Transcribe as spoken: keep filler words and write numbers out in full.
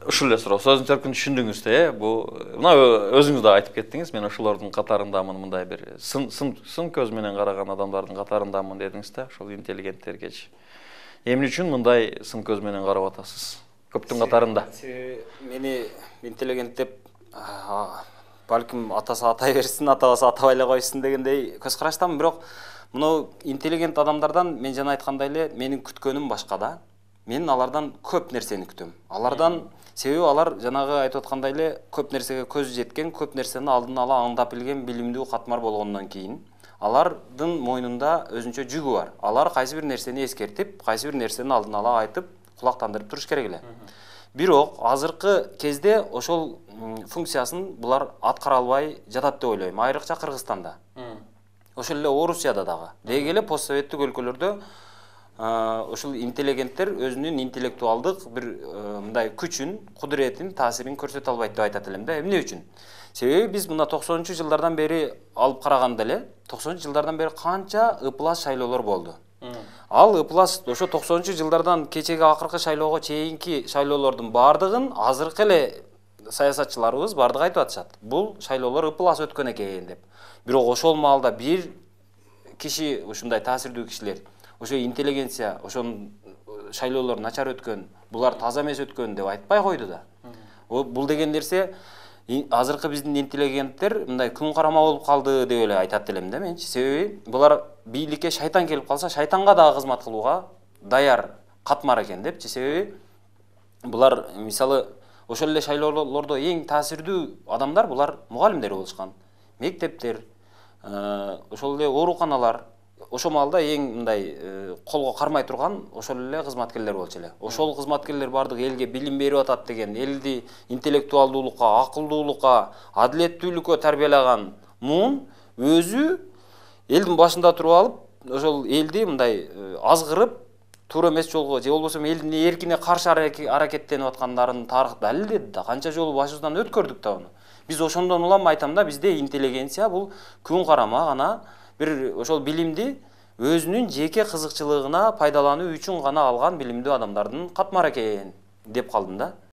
ушул эле суроо. Сөздүн төркүнүн түшүндүңүз да, э? Бул мына өзүңүз да айтып кеттиңиз, мен ошолордун катарындамын, мындай бир сын сын сын көз менен караган адамдардын катарындамын дедиңиз да, ошол интеллигенттергечи. Эмне үчүн мындай сын көз менен карап атасыз? Көптүн катарында. Мени интеллигент деп балким атасы атай берсин, атабасы атабай эле койсун дегендей көз караштамын, бирок мына интеллигент адамдардан мен жана айткандай эле менин күткөнүм башка да. Мен алардан көп нерсени күтөм. Алардан себеби алар жанагы айтып аткандай эле көп нерсеге көзү жеткен, көп нерсени алдын ала аңдап билген билимдүү катмар болгондон кийин алардын мойнунда өзүнчө жүгү бар. Алар кайсы бир нерсени эскертип, кайсы бир нерсени алдын ала айтып, кулактандырып туруш керек эле. Бирок азыркы кезде ошол функциясын булар аткара албай жатат деп ойлойм, айрыкча Кыргызстанда. Ошол эле Орусияда дагы. Деги эле постсоветтик өлкөлөрдө ошол интеллигенттер өзүнүн интеллектуалдык бир мындай күчүн, кудуретин, таасирин көрсөтө албайт деп айтат элем да. Эмне үчүн? Себеби биз мына токсонунчу жылдардан бери алып караганда эле, токсонунчу жылдардан бери канча ыплас шайлоолор болду. Ал ыплас ошо токсонунчу жылдардан кечеги акыркы шайлоого чейинки шайлоолордун бардыгын азыркы эле саясатчыларыбыз бардыгы айтып атышат. Бул шайлоолор ыплас өткөн экен деп. Бирок ошол маалда бир киши, ушундай таасирдүү кишилер, ошо интеллигенция, ошонун шайлоолор начар өткөн, булар таза эмес өткөн деп айтпай койду да. Бул деген нерсе азыркы биздин интеллигенттер мындай күн карама болуп калды деп эле айтат элем да менчи. Себеби булар бийликке шайтан келип калса, шайтанга дагы кызмат кылууга даяр катмар экен депчи. Себеби булар мисалы ошол эле шайлоолордо эң таасирдүү адамдар булар мугалимдер болушкан. Мектептер, ошол эле ооруканалар, ошол маалда эң мындай колго кармай турган ошол эле кызматкерлер болчу эле. Ошол кызматкерлер бардык элге билим берип атат деген, элди интеллектуалдуулукка, акылдуулукка, адилеттүүлүккө тарбиялаган муун өзү элдин башында туруп алып, ошол элди мындай азгырып, туура эмес жолго же болбосо элдин эркине каршы аракеттенип аткандарын тарых далилдеди да, канча жолу башыбыздан өткөрдүк да аны. Биз ошондон улам айтам да, бизде интеллигенция бул күн карама гана бир ошол билимди өзүнүн жеке кызыкчылыгына пайдалануу үчүн гана алган билимдүү адамдардын катмары экен деп калдым да.